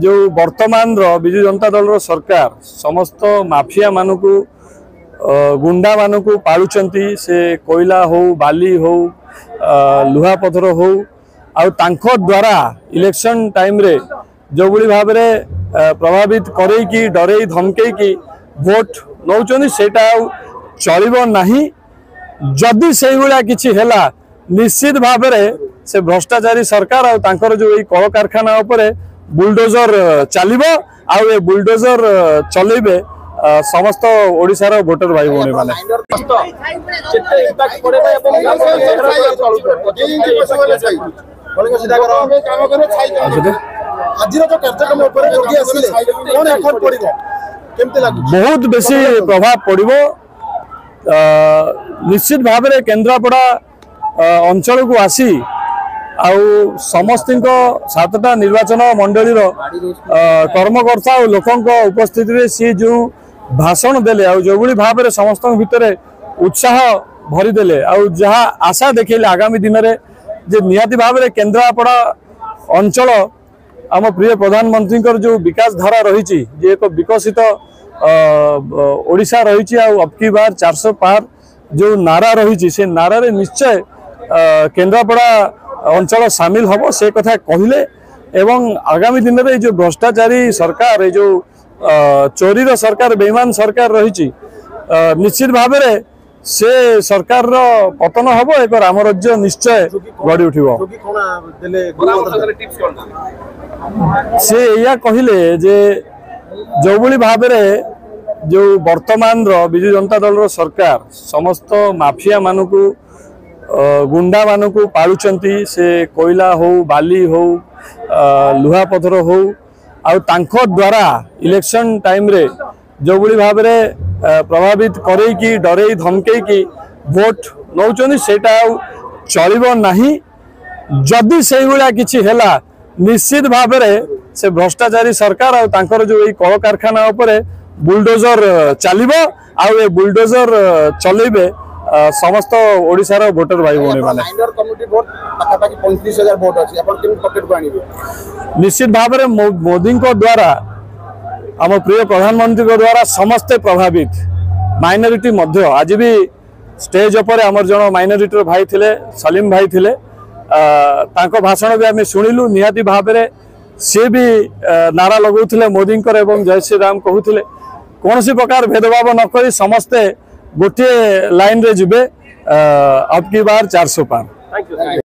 ଯେଉଁ ବର୍ତ୍ତମାନର ବିଜୁ ଜନତା ଦଳର ସରକାର ସମସ୍ତ ମାଫିଆମାନଙ୍କୁ, ଗୁଣ୍ଡାମାନଙ୍କୁ ପାଳୁଛନ୍ତି, ସେ କୋଇଲା ହଉ, ବାଲି ହଉ, ଲୁହାପଥର ହଉ, ଆଉ ତାଙ୍କ ଦ୍ୱାରା ଇଲେକ୍ସନ୍ ଟାଇମ୍ରେ ଯେଉଁଭଳି ଭାବରେ ପ୍ରଭାବିତ କରେଇକି, ଡରେଇ ଧମକେଇକି ଭୋଟ ନେଉଛନ୍ତି, ସେଇଟା ଆଉ ଚଳିବ ନାହିଁ। ଯଦି ସେଇଭଳିଆ କିଛି ହେଲା, ନିଶ୍ଚିତ ଭାବରେ ସେ ଭ୍ରଷ୍ଟାଚାରୀ ସରକାର ଆଉ ତାଙ୍କର ଯେଉଁ ଏଇ କଳକାରଖାନା ଉପରେ ବୁଲଡୋଜର ଚାଲିବ, ଆଉ ଏ ବୁଲଡୋଜର ଚଲେଇବେ ସମସ୍ତ ଓଡ଼ିଶାର ଭୋଟର ଭାଇ ଭଉଣୀମାନେ। କେତେ ଇମ୍ପାକ୍ଟ ପଡିବ ଏବଂ ଆଜିର ଯୋଉ କାର୍ଯ୍ୟକ୍ରମ ଉପରେ ଯୋଗୀ ଆସିଲେ, କଣ ଏଫର୍ଟ ପଡିବ, କେମିତି ଲାଗୁଛି? ବହୁତ ବେଶୀ ପ୍ରଭାବ ପଡ଼ିବ। ନିଶ୍ଚିତ ଭାବରେ କେନ୍ଦ୍ରାପଡ଼ା ଅଞ୍ଚଳକୁ ଆସି ଆଉ ସମସ୍ତଙ୍କ 7ଟା ନିର୍ବାଚନ ମଣ୍ଡଳୀର କର୍ମକର୍ତ୍ତା ଆଉ ଲୋକଙ୍କ ଉପସ୍ଥିତିରେ ସିଏ ଯେଉଁ ଭାଷଣ ଦେଲେ, ଆଉ ଯେଉଁଭଳି ଭାବରେ ସମସ୍ତଙ୍କ ଭିତରେ ଉତ୍ସାହ ଭରିଦେଲେ, ଆଉ ଯାହା ଆଶା ଦେଖେଇଲେ ଆଗାମୀ ଦିନରେ ଯେ ନିହାତି ଭାବରେ କେନ୍ଦ୍ରାପଡ଼ା ଅଞ୍ଚଳ ଆମ ପ୍ରିୟ ପ୍ରଧାନମନ୍ତ୍ରୀଙ୍କର ଯେଉଁ ବିକାଶ ଧାରା ରହିଛି, ଯେ ଏକ ବିକଶିତ ଓଡ଼ିଶା ରହିଛି, ଆଉ ଅବକି ବାର 400 ପାର ଯେଉଁ ନାରା ରହିଛି, ସେ ନାରାରେ ନିଶ୍ଚୟ କେନ୍ଦ୍ରାପଡ଼ା ଅଞ୍ଚଳ ସାମିଲ ହେବ, ସେ କଥା କହିଲେ। ଏବଂ ଆଗାମୀ ଦିନରେ ଏଇ ଯେଉଁ ଭ୍ରଷ୍ଟାଚାରୀ ସରକାର, ଏଇ ଯେଉଁ ଚୋରିର ସରକାର, ବେଇମାନ ସରକାର ରହିଛି, ନିଶ୍ଚିତ ଭାବରେ ସେ ସରକାରର ପତନ ହେବ, ଏକ ରାମରାଜ୍ୟ ନିଶ୍ଚୟ ଗଢ଼ି ଉଠିବ। ଯୋଗୀ କଣ ଦେଲେ? ଟିପ୍ସ କଣ ଦେଲେ? ସେ ଏଇଆ କହିଲେ ଯେ ଯେଉଁଭଳି ଭାବରେ ଯେଉଁ ବର୍ତ୍ତମାନର ବିଜୁ ଜନତା ଦଳର ସରକାର ସମସ୍ତ ମାଫିଆମାନଙ୍କୁ, ଗୁଣ୍ଡାମାନଙ୍କୁ ପାଳୁଛନ୍ତି, ସେ କୋଇଲା ହଉ, ବାଲି ହଉ, ଲୁହାପଥର ହଉ, ଆଉ ତାଙ୍କ ଦ୍ୱାରା ଇଲେକ୍ସନ୍ ଟାଇମ୍ରେ ଯେଉଁଭଳି ଭାବରେ ପ୍ରଭାବିତ କରେଇକି, ଡରେଇ ଧମକେଇକି ଭୋଟ ନେଉଛନ୍ତି, ସେଇଟା ଆଉ ଚଳିବ ନାହିଁ। ଯଦି ସେଇଭଳିଆ କିଛି ହେଲା, ନିଶ୍ଚିତ ଭାବରେ ସେ ଭ୍ରଷ୍ଟାଚାରୀ ସରକାର ଆଉ ତାଙ୍କର ଯେଉଁ ଏଇ କଳକାରଖାନା ଉପରେ ବୁଲଡୋଜର ଚାଲିବ, ଆଉ ଏ ବୁଲଡୋଜର ଚଲେଇବେ ସମସ୍ତ ଓଡ଼ିଶାର ଭୋଟର ଭାଇ ଭଉଣୀମାନେ। ମାଇନର କମ୍ୟୁନିଟି ଭୋଟ ପାଖାପାଖି 35,000 ଭୋଟ ଅଛି, ଆପଣ କେମିତି ପକେଟକୁ ଆଣିବେ? ନିଶ୍ଚିତ ଭାବରେ ମୋଦିଙ୍କ ଦ୍ୱାରା, ଆମ ପ୍ରିୟ ପ୍ରଧାନମନ୍ତ୍ରୀଙ୍କ ଦ୍ୱାରା ସମସ୍ତେ ପ୍ରଭାବିତ, ମାଇନରିଟି ମଧ୍ୟ। ଆଜି ବି ଷ୍ଟେଜ ଉପରେ ଆମର ଜଣ ମାଇନରିଟିର ଭାଇ ଥିଲେ, ସଲିମ ଭାଇ ଥିଲେ, ତାଙ୍କ ଭାଷଣ ବି ଆମେ ଶୁଣିଲୁ। ନିହାତି ଭାବରେ ସିଏ ବି ନାରା ଲଗାଉଥିଲେ ମୋଦିଙ୍କର ଏବଂ ଜୟ ଶ୍ରୀରାମ କହୁଥିଲେ। କୌଣସି ପ୍ରକାର ଭେଦଭାବ ନ କରି ସମସ୍ତେ ଗୋଟିଏ ଲାଇନରେ ଯିବେ, ଅବକି ବାର 400 ପାର। Thank you.